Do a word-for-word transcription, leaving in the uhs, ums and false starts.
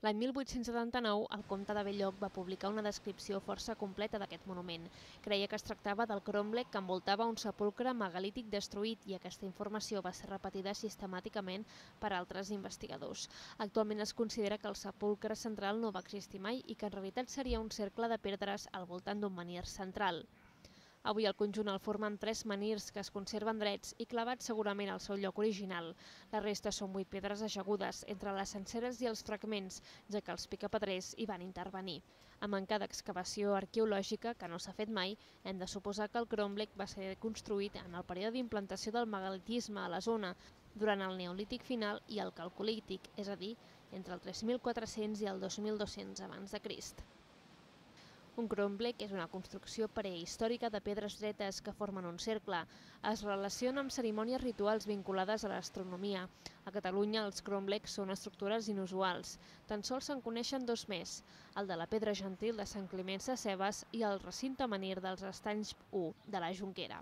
L'any mil vuit-cents setanta-nou, el comte de Belloc va publicar una descripció força completa d'aquest monument. Creia que es tractava del cromlech que envoltava un sepulcre megalític destruït i aquesta informació va ser repetida sistemàticament per altres investigadors. Actualment es considera que el sepulcre central no va existir mai i que en realitat seria un cercle de pedres al voltant d'un menhir central. Avui el conjunt el formen tres menhirs que es conserven drets i clavats segurament al seu lloc original. La resta són vuit pedres ajagudes entre les senceres i els fragments, ja que els picapedrers hi van intervenir. A manca d'excavació arqueològica, que no s'ha fet mai, hem de suposar que el cromlech va ser construït en el període d'implantació del megalitisme a la zona, durant el neolític final i el calcolític, és a dir, entre el tres mil quatre-cents i el dos mil dos-cents abans de Crist. Un cromlech és una construcció prehistòrica de pedres dretes que formen un cercle. Es relaciona amb cerimònies rituals vinculades a l'astronomia. A Catalunya els cromlechs són estructures inusuals. Tan sols se'n coneixen dos més, el de la Pedra Gentil de Sant Climent Sescebes i el recinte menhir dels Estanys u de la Jonquera.